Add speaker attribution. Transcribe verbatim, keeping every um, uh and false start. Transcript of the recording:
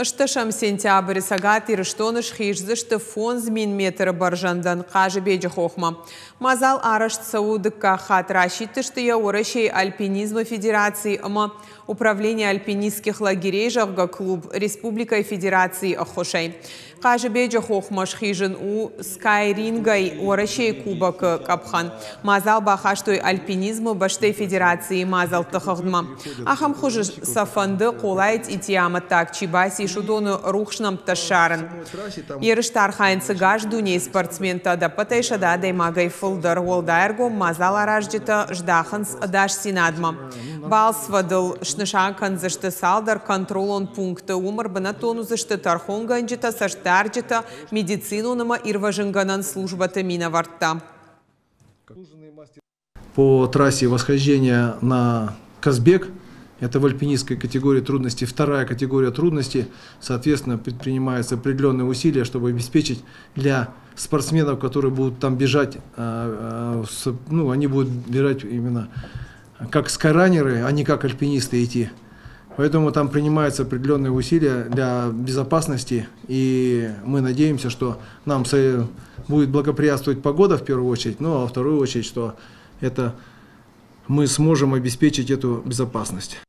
Speaker 1: Ӕстдӕсӕм сентябры Цӕгат Ирыстоны схиздзысты фондз мин метры бӕрзӕндӕн Хъазыбеджы хохмӕ. Мадзал арӕзт цӕуы дыккаг хатт, расидтысты йӕ Уӕрӕсейы альпинизмы федераци ӕмӕ Управление альпинистских лагерей, зӕгъгӕ, клуб республикӕйы федерацийы ӕххуысӕй. Хъазыбеджы хохмӕ схизын у скайрингӕй Уӕрӕсейы кубокы къӕпхӕн. Мадзал бахастой альпинизмы бӕстӕйы федерацийы мадзӕлтты хыгъдмӕ. Ахӕм хуызы сӕ фӕнды, Хъолайы цъитийы амӕттаг чи бацис, уыдоны рухс нӕмттӕ ссарын. Ерысты архайынц ӕгас дунейы спортсментӕ, ӕдӕппӕтӕй сӕдӕ адӕймагӕй фылдӕр. Уӕлдай ӕргом мадзаларазджытӕ здахынц ӕдасдзинадмӕ. Балцвӕдыл снысан кӕндзысты цалдӕр контролон пункты. Уым ӕрбынӕттон уыдзысты тӕрхонгӕнджытӕ, цӕстдарджытӕ, медицинон ӕмӕ ирвӕзынгӕнӕн службӕты минӕвӕрттӕ.
Speaker 2: По трассе восхождения на Казбек, это в альпинистской категории трудностей, вторая категория трудностей, соответственно, предпринимаются определенные усилия, чтобы обеспечить для спортсменов, которые будут там бежать, ну, они будут бежать именно как скайранеры, а не как альпинисты идти. Поэтому там принимаются определенные усилия для безопасности, и мы надеемся, что нам будет благоприятствовать погода в первую очередь, ну а во вторую очередь, что это мы сможем обеспечить эту безопасность.